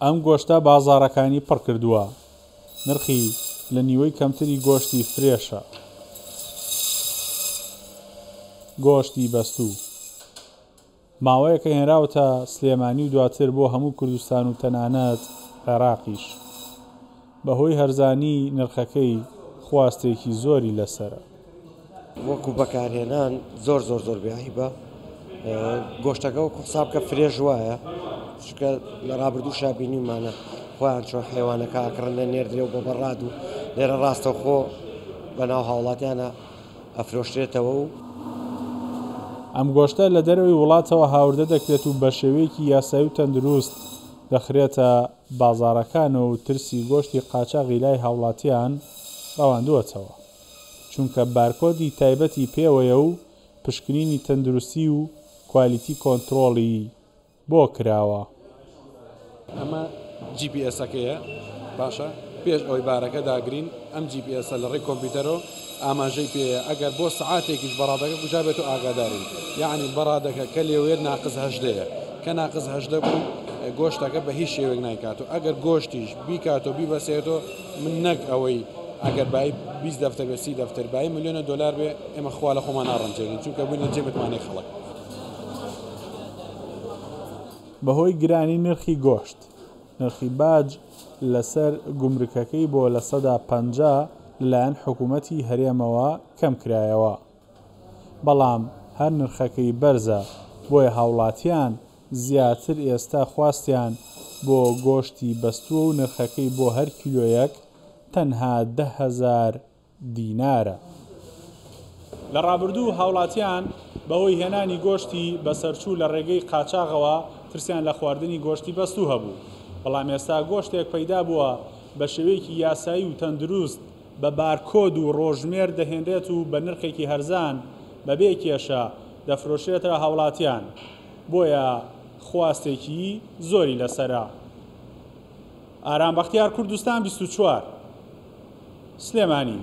ئەم گۆشتە بازاڕەکانی پڕ کردووە، نرخی لە نیوەی کەمتری گۆشتی فرێشە. گۆشتی بەستوو ماوەیەکە هێنراوەتە سلێمانی و دواتر بۆ هەموو کوردستان و تەنانەت عێراقیش. بەهۆی هەرزانی نرخەکەی خواستێکی زۆری لەسەرە. وەکو بەکارهێنان زۆر زۆر زۆر بێ عەیبە گۆشتەکە وەکو حساب کە فرێش وایە چونکە لە ڕابردووشا بینیومانە خۆیان چۆن حیوانەکە ئەکڕن لە نێردرێ و بە بەڕاد و لێرە ڕاستەوخۆ بەناو هاوڵاتیانە ئەفرۆشرێتەوە و ئەم گۆشتە لە دەرەوەی وڵاتەوە هاوردە دەکرێت و بەشێوەیەکی یاسایی و تەندروست دەخرێتە بازاڕەکانەوە و ترسی گۆشتی قاچاغی لای هاوڵاتیان ڕەواندووەتەوە. چونکە بارکۆدی تایبەتی پێوەیە و پشکنینی تەندروستی و کوالیتی کۆنترۆڵی بۆ کراوە. ئەمە جی پی ئێسەکەیە باشە پێش ئەوەی بارەکە داگرین ئەم جی پی ئێسە لە ڕێی کۆمپیوتەرەوە ئاماژەی پێیە ئەگەر بۆ سەعاتێکیش بەڕادەکە کوژابێت و ئاگادارین یەعنی بەڕادەکە کە لێوەیەت ناقس هەژدەیە کە ناقس 18 بوو گۆشتەکە بە هیچ شێوەیەک نایکات و ئەگەر گۆشتیش بیکات و بیبەسێتەوە من نەک ئەوەی ئەگەر بای 20 دەفتەر بێ 30 دەفتەر بای ملیۆنە دۆلار بێ ئێمە خوا لە خۆمان ناڕەنجێنین چونکە بووینە جێ متمانەی خەڵک. بەهۆی گرانی نرخی گۆشت، نرخی باج لەسەر گومرکەکەی بۆ 50% لەلایەن حکومەتی هەرێمەوە کەمکرایەوە، بەڵام هەر نرخەکەی بەرزە، بۆیە هاوڵاتیان زیاتر ئێستا خواستیان بۆ گۆشتی بەستووە و نرخەکەی بۆ هەر کیلۆیەک تەنها 10,000 دینارە. لە ڕابردوو هاوڵاتیان بەهۆی هێنانی گۆشتی بەسەرچوو لە ڕێگەی قاچاغەوە ترسیان لە خواردنی گۆشتی بەستوو هەبوو، بەڵام ئێستا گۆشتێک پەیدا بووە بە شێوەیەکی یاسایی و تەندروست بە بارکۆد و ڕۆژمێر دەهێنرێت و بە نرخێکی هەرزان بەبێ کێشە دەفرۆشرێتە هاوڵاتیان، بۆیە خواستێکی زۆری لەسەرە. ئارام بەختیار کوردستان 24. سلێمانی.